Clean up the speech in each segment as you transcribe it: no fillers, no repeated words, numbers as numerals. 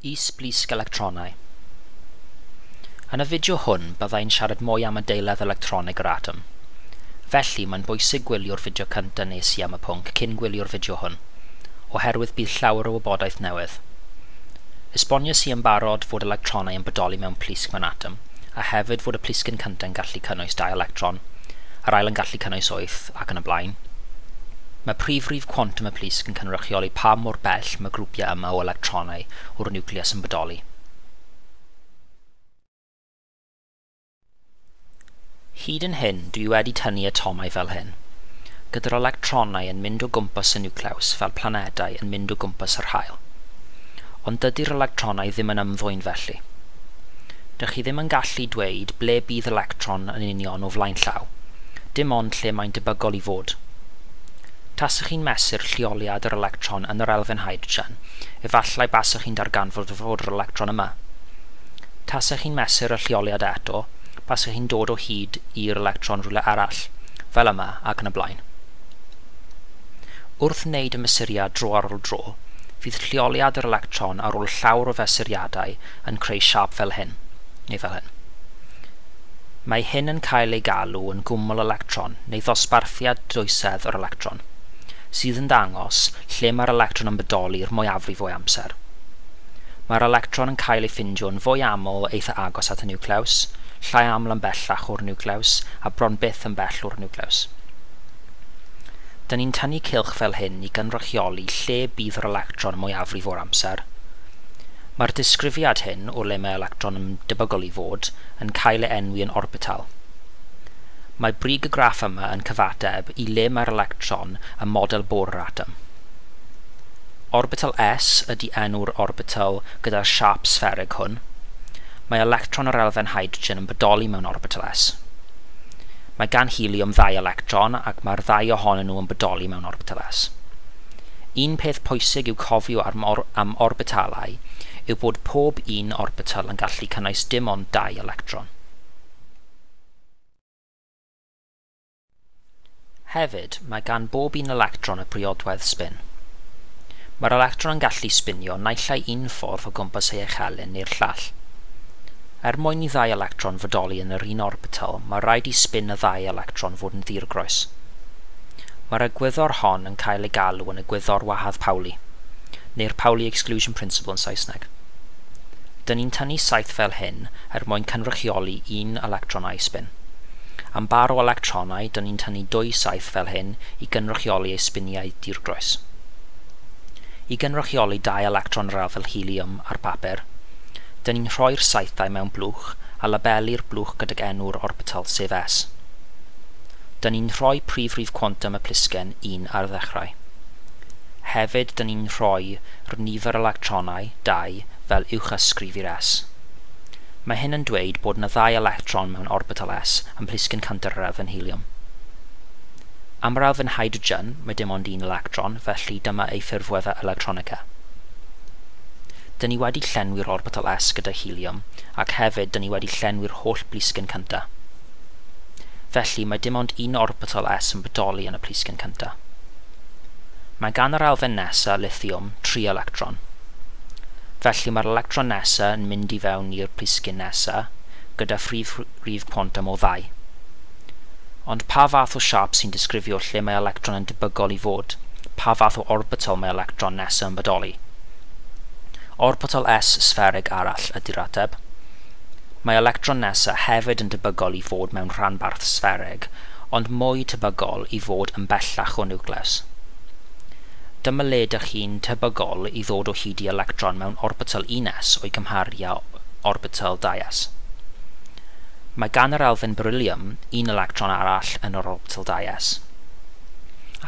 Is-blisg electronau. Yn y fideo hwn, byddai'n siarad mwy am adeiledd electronig yr atom. Felly, mae'n bwysig gwylio'r fideo cyntaf nes i am y pwnc cyn gwylio'r fideo hwn, oherwydd bydd llawer o wybodaeth newydd. Esboniais i yn barod fod electronau yn bodoli mewn plisg mewn atom, a hefyd fod y plisgyn cyntaf yn gallu cynnwys 2 electron, yr ail yn gallu cynnwys 8, ac yn y blaen. Mae prif rif cwantwm y plisg yn cynrychioli pa mor bell mae grwpiau yma o electronau o'r niwclews yn bodoli. Hyd yn hyn, dwi wedi tynnu atomau fel hyn, gyda'r electronau yn mynd o gwmpas y niwclews fel planedau yn mynd o gwmpas yr haul. Ond dydy'r electronau ddim yn ymddwyn felly. Dych chi ddim yn gallu dweud ble bydd electron yn union o flaen llaw, dim ond lle mae'n debygol i fod. Tasech chi'n mesur lleoliad yr electron yn yr elfen hydrogen, efallai basech chi'n darganfod fod yr electron yma. Tasech chi'n mesur y lleoliad eto, basech chi'n dod o hyd i'r electron rhywle arall, fel yma ac yn y blaen. Wrth wneud y mesuriad dro ar ôl dro, fydd lleoliad yr electron ar ôl llawer o fesuriadau yn creu siâp fel hyn, neu fel hyn. Mae hyn yn cael ei galw yn gwmwl electron neu ddosbarthiad dwysedd yr electron, sydd yn dangos lle mae'r electron yn bodoli'r mwyafrif o'i amser. Mae'r electron yn cael ei ffindio'n fwy aml eitha agos at y niwclews, llai aml yn bellach o'r niwclews, a bron byth yn bell o'r niwclews. Dyn ni'n tynnu cylch fel hyn i gynrychioli lle bydd yr electron mwyafrif o'r amser. Mae'r disgrifiad hyn o le mae electron yn debygol i fod yn cael ei enwi yn orbital. Mae brig y graff yma yn cyfateb i le mae'r electron ym model Bohr yr atom. Orbital S ydy enw'r orbital gyda'r siâp sfferig hwn. Mae electron o'r elfen hydrogen yn bodoli mewn orbital S. Mae gan heliwm 2 electron ac mae'r ddau ohonyn nhw yn bodoli mewn orbital S. Un peth pwysig i'w cofio am orbitalau yw bod pob un orbital yn gallu cynnwys dim ond 2 electron. Hefyd, mae gan bob un electron y priodwedd sbin. Mae'r electron yn gallu sbinio naill ai un ffordd o gwmpas ei echelin neu'r llall. Er mwyn i ddau electron fodoli yn yr un orbital, mae rhaid i sbin y ddau electron fod yn ddirgroes. Mae'r egwyddor hon yn cael ei galw yn egwyddor wahardd Pauli, neu'r Pauli Exclusion Principle yn Saesneg. Dyn ni'n tynnu saeth fel hyn er mwyn cynrychioli un electron a'i sbin. Am bar o electronau, dyn ni'n tynnu 2 saeth fel hyn i gynrychioli ei sbiniau dirgroes. I gynrychioli 2 electron yr elfen heliwm ar bapur, dyn ni'n rhoi'r saethau mewn blwch a labelu'r blwch gydag enw'r orbital, sef S. Dyn ni'n rhoi prif rif cwantwm y plisgen 1 ar ddechrau. Hefyd, dyn ni'n rhoi'r nifer electronau, 2, fel uwchysgrif i'r S. Mae hyn yn dweud bod yna 2 electron mewn orbital S yn plisgyn cyntaf yr elfen heliwm. Am yr elfen hydrogen, mae dim ond 1 electron, felly dyma ei ffurfweddau electronica. Dyn ni wedi llenwi'r orbital S gyda heliwm, ac hefyd dyn ni wedi llenwi'r holl blisgyn cyntaf. Felly mae dim ond un orbital S yn bodoli yn y plisgyn cyntaf. Mae gan yr elfen nesaf, lithiwm, 3 electron. Felly mae'r electron nesaf yn mynd i fewn i'r plisgyn nesaf gyda phrif rif cwantwm o 2. Ond pa fath o siâp sy'n disgrifio lle mae electron yn debygol i fod? Pa fath o orbital mae electron nesaf yn bodoli? Orbital S sfferig arall ydy'r ateb. Mae electron nesaf hefyd yn debygol i fod mewn rhanbarth sfferig, ond mwy tebygol i fod yn bellach o niwclews. Dyma le dych chi'n tebygol i ddod o hyd i electron mewn orbital 1s o'i cymharu â orbital 2s. Mae gan yr elfen beryllium un electron arall yn yr orbital 2s,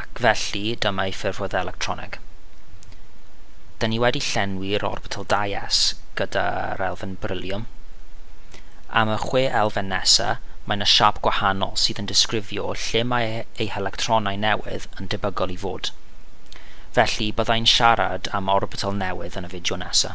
ac felly dyma ei ffurfwedd electronig. Dyn ni wedi llenwi'r orbital 2s gyda'r elfen beryllium. Am y 6 elfen nesaf, mae yna siâp gwahanol sydd yn disgrifio lle mae ei electronau newydd yn debygol i fod. Felly, byddai'n siarad am orbital newydd yn y fideo nesaf.